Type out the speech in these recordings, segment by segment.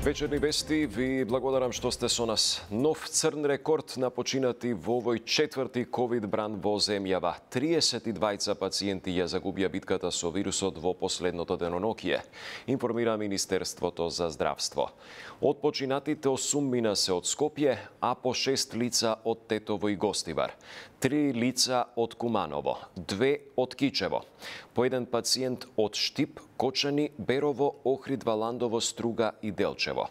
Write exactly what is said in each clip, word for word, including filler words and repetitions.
Вечерни вести, ви благодарам што сте со нас. Нов црн рекорд на починати во овој четврти ковид бран во земјава. триесет и двајца пациенти ја загубија битката со вирусот во последното денонокие, информира Министерството за здравство. Од починатите осум мина се од Скопје, а по шест лица од Тетово и Гостивар. Три лица од Куманово, две од Кичево, по еден пациент од Штип, Кочани, Берово, Охрид, Валандово, Струга и Делчево.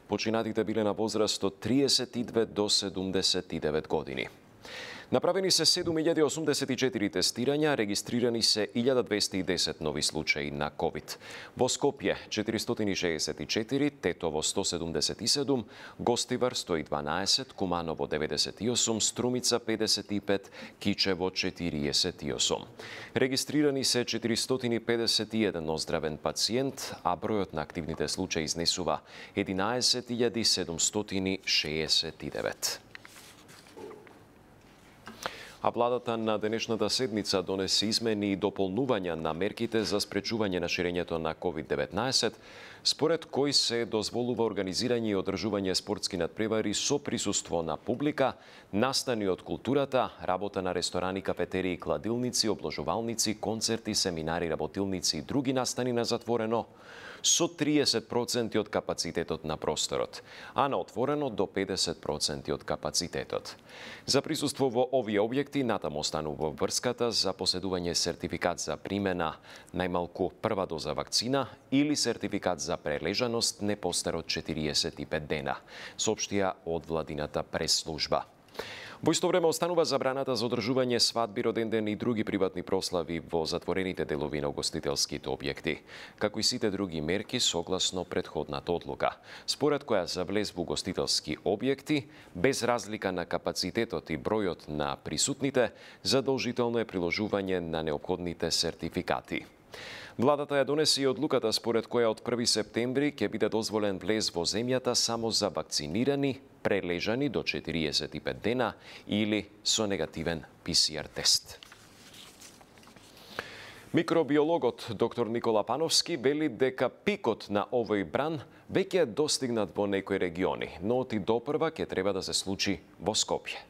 Починатите биле на возраст од триесет и две до седумдесет и девет години. Направени се седум илјади осумдесет и четири тестирања, регистрирани се илјада двесте и десет нови случаи на ковид. Во Скопје четиристотини и шеесет и четири, Тетово сто седумдесет и седум, Гостивар сто и дванаесет, Куманово деветдесет и осум, Струмица педесет и пет, Кичево четириесет и осум. Регистрирани се четиристотини педесет и еден оздравен пациент, а бројот на активните случаи изнесува единаесет илјади седумстотини шеесет и девет. А владата на денешната седница донесе измени и дополнувања на мерките за спречување на ширењето на ковид деветнаесет, според кои се дозволува организирање и одржување спортски надпревари со присуство на публика, настани од културата, работа на ресторани, кафетерии, кладилници, обложувалници, концерти, семинари, работилници и други настани на затворено, со триесет проценти од капацитетот на просторот, а на отворено до педесет проценти од капацитетот. За присуство во овие објекти натаму останува врската за поседување сертификат за примена најмалку прва доза вакцина или сертификат за прележаност не постар од четириесет и пет дена, соопштија од владината прес-служба. Во исто време останува забраната за одржување свадби, роденден и други приватни прослави во затворените делови на угостителските објекти, како и сите други мерки согласно претходната одлука, според која за влез во угостителски објекти, без разлика на капацитетот и бројот на присутните, задолжително е приложување на неопходните сертификати. Владата ја донесе и одлуката според која од први септември ќе биде дозволен влез во земјата само за вакцинирани, прележани до четириесет и пет дена или со негативен пи си ар тест. Микробиологот доктор Никола Пановски вели дека пикот на овој бран веќе е достигнат во некои региони, но оти допрва ќе треба да се случи во Скопје.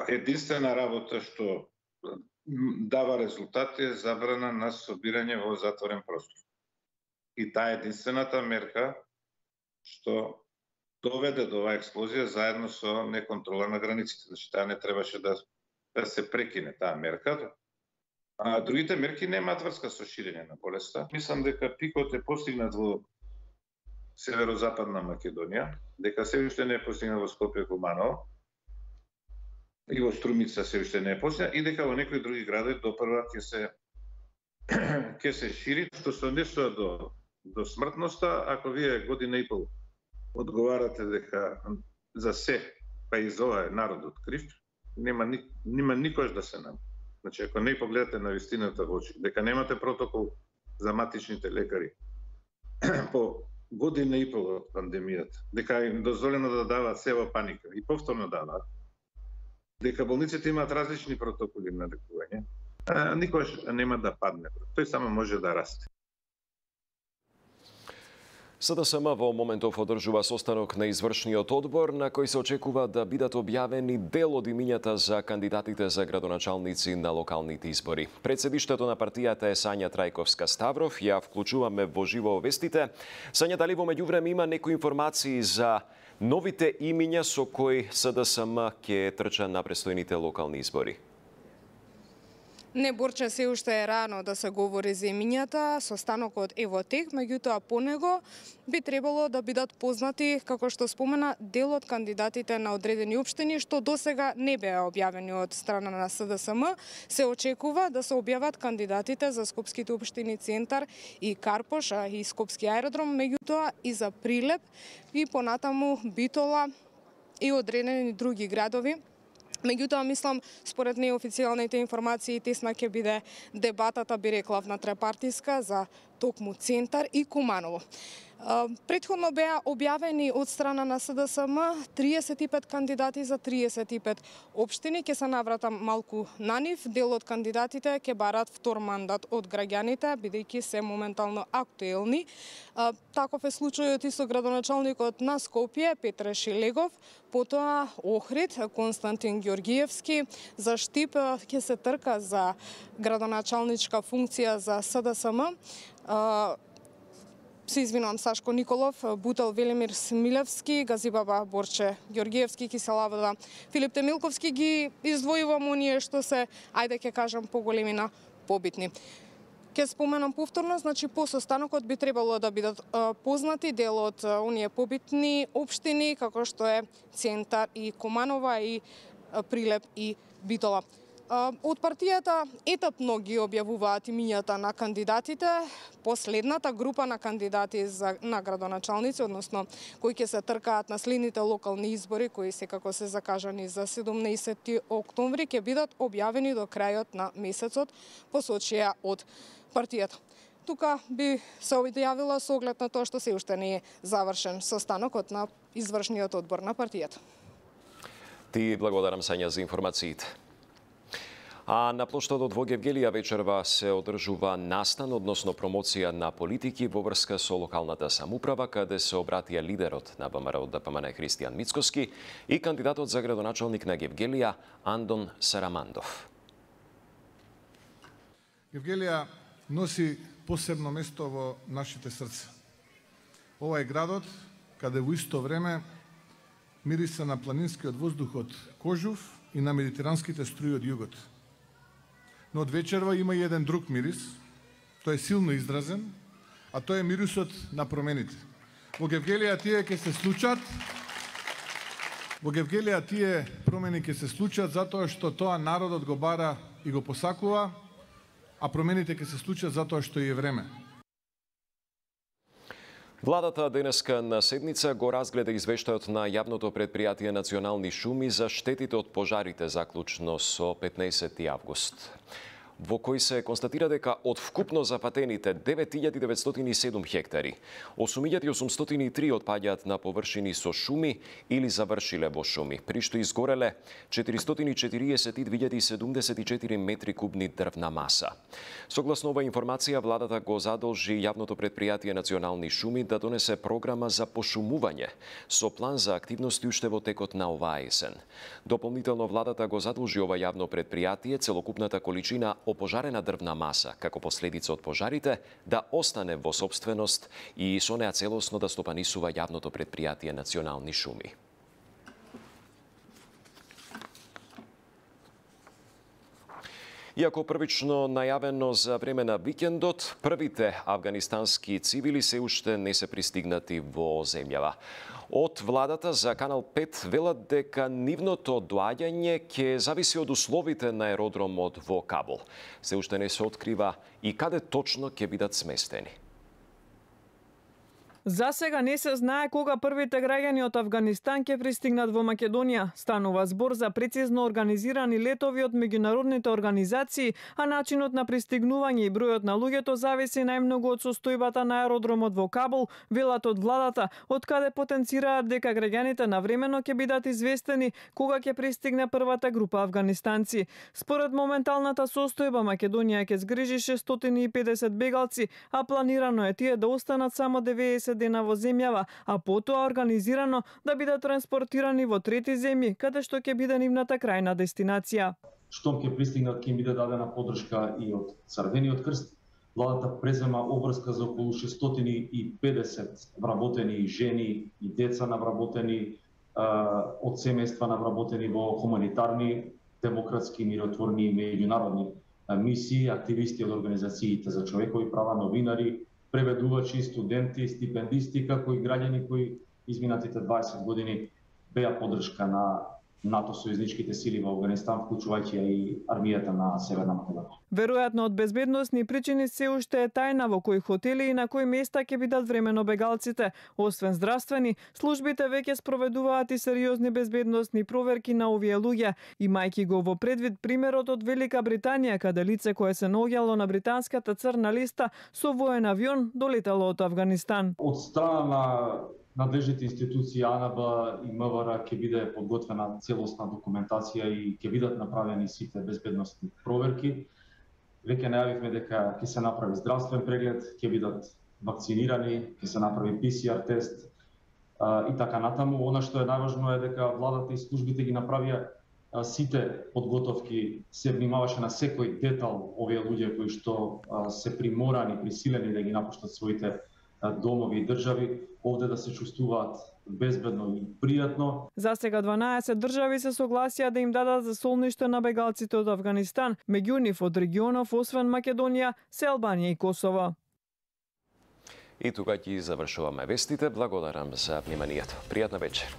Единствена работа што дава резултати е забрана на собирање во затворен простор. И таа единствената мерка што доведе до оваа експлозија заедно со неконтрола на границите. Значи, таа не требаше да, да се прекине таа мерка. А другите мерки немаат врска со ширење на болеста. Мислам дека пикот е постигнат во северозападна Македонија, дека се уште не е постигнат во Скопје, Куманово, и во Струмица се уште не е постигнат, и дека во некои други градови допрва ќе се ќе се шири, што се однесува до до смртноста. Ако вие година и пол одговарате дека за се, па и за ова е народот крив, нема ни, нема никош да се нам. Значи, ако не погледате на вистината во очи, дека немате протокол за матичните лекари по година и пол од пандемијата, дека им дозволено да даваат сева паника и повторно даваат, дека болниците имаат различни протоколи на лекување, никош нема да падне. Тој само може да расте. Се де ес ем во моментов одржува состанок на извршниот одбор на кој се очекува да бидат објавени дел од имињата за кандидатите за градоначалници на локалните избори. Председиштето на партијата е Сања Трајковска-Ставров, ја вклучуваме во живо вестите. Сања, дали во меѓувреме има некои информации за новите имиња со кои Се де ес ем ќе трча на престојните локални избори? Не, Борче, се уште е рано да се говори за имињата. Состанокот е во тек, меѓутоа по него би требало да бидат познати, како што спомена, дел од кандидатите на одредени општини, што досега не беа објавени од страна на Се де ес ем. Се очекува да се објават кандидатите за скопските општини Центар и Карпош и Скопски аеродром, меѓутоа и за Прилеп и понатаму Битола и одредени други градови. Меѓутоа, мислам, според неофицијалните информации, тесна ќе биде дебатата, би рекла, внатре партиска за токму Центар и Куманово. Претходно беа објавени од страна на С Д С М триесет и пет кандидати за триесет и пет општини. Ке се навратам малку на нив. Дел од кандидатите ќе барат втор мандат од граѓаните, бидејќи се моментално актуелни. Таков е случајот и со градоначалникот на Скопје Петре Шелегов, потоа Охрид Константин Ѓоргиевски. За Штип ќе се трка за градоначалничка функција за С Д С М. Се извинувам, Сашко Николов, Бутел Велимир Смилевски, Газибаба Борче Ѓоргиевски, Киселавода Филип Темилковски ги издвојувам оние што се, ајде ќе кажам, поголемина побитни. Ке споменам повторно, значи по состанокот би требало да бидат а, познати дел од а, оние побитни општини, како што е Центар и Куманова и а, Прилеп и Битола. Од партијата етапно ги објавуваат имињата на кандидатите. Последната група на кандидати за, на градоначалници, односно кои ќе се тркаат на следните локални избори, кои секако се закажани за седумнаесети октомври, ќе бидат објавени до крајот на месецот, посочија од партијата. Тука би се објавила со оглед на тоа што се уште не е завршен состанокот на извршниот одбор на партијата. Ти благодарам, Сања, за информациите. А на плоштадот во Гевгелија вечерва се одржува настан, односно промоција на политики во врска со локалната самуправа, каде се обратија лидерот на Б М Р од Д П М Н Христијан Мицкоски и кандидатот за градоначалник на Гевгелија Андон Сарамандов. Гевгелија носи посебно место во нашите срца. Ова е градот каде во исто време мириса на планинскиот воздух од Кожув и на медитеранските струи од југот. Но од вечерва има и еден друг мирис, тој е силно изразен, а тој е мирисот на промените. Во Гевгелија тие ќе се случат, во Гевгелија тие промени ќе се случат затоа што тоа народот го бара и го посакува, а промените ќе се случат затоа што е време. Владата денеска на седница го разгледа извештајот на јавното предпријатие Национални шуми за штетите од пожарите заклучно со петнаесети август, во кој се констатира дека од вкупно запатените девет илјади деветстотини и седум хектари, осум илјади осумстотини и три отпаѓаат на површини со шуми или завршиле во шуми, при што изгореле четиристотини и четириесет и две илјади седумдесет и четири метри кубни дрвна маса. Согласно ова информација, владата го задолжи јавното предпријатие Национални шуми да донесе програма за пошумување со план за активности уште во текот на оваа есен. Дополнително, владата го задолжи ова јавно предпријатие целокупната количина опожарена дрвна маса како последица од пожарите да остане во сопственост и со неа целосно да стопанисува јавното предпријатие Национални шуми. Иако првично најавено за време на викендот, првите афганистански цивили се уште не се пристигнати во земјава. Од владата за Канал пет велат дека нивното доаѓање ќе зависи од условите на аеродромот во Кабул. Се уште не се открива и каде точно ќе бидат сместени. За сега не се знае кога првите граѓани од Авганистан ќе пристигнат во Македонија. Станува збор за прецизно организирани летови од меѓународните организации, а начинот на пристигнување и бројот на луѓето зависи најмногу од состојбата на аеродромот во Кабул, велат од владата, од каде потенцираат дека граѓаните навремено ќе бидат известени кога ќе пристигне првата група афганистанци. Според моменталната состојба, Македонија ќе згрижи шестстотини и педесет бегалци, а планирано е тие да останат само деветдесет дена во земјава, а потоа организирано да бидат транспортирани во трети земји, каде што ќе биде нивната крајна дестинација. Штом ќе пристигнат, ќе им биде дадена поддршка и од Црвениот крст. Владата презема обврска за околу шестстотини и педесет вработени жени и деца навработени од семејства навработени во хуманитарни, демократски, миротворни и меѓународни мисии, активисти од организациите за човекови права, новинари, преведувачи, студенти, стипендисти, како и граѓани кои изминатите дваесет години беа поддршка на НАТО сојузничките сили во Авганистан, вклучувајќи и армијата на Северна Македонија. Веројатно од безбедносни причини се уште е тајна во кои хотели и на кои места ќе бидат времено бегалците. Освен здравствени, службите веќе спроведуваат и сериозни безбедносни проверки на овие луѓе, имајќи го во предвид примерот од Велика Британија, каде лице кое се наоѓало на британската црна листа со воен авион долетало од Авганистан. Од страна на надлежните институции А Н Б и М В Р ќе биде подготвена целосна документација и ќе бидат направени сите безбедносни проверки. Веќе најавивме дека ќе се направи здравствен преглед, ќе бидат вакцинирани, ќе се направи П С Р тест и така натаму. Она што е најважно е дека владата и службите ги направија сите подготовки, се внимаваше на секој детал овие луѓе кои што се приморани, присилени да ги напуштат своите домови и држави, овде да се чувствуваат безбедно и пријатно. За сега дванаесет држави се согласија да им дадат засолниште на бегалците од Авганистан, меѓу нив од регионов освен Македонија, се Албанија и Косово. И тука ќе завршуваме вестите. Благодарам за вниманието. Пријатна вечер.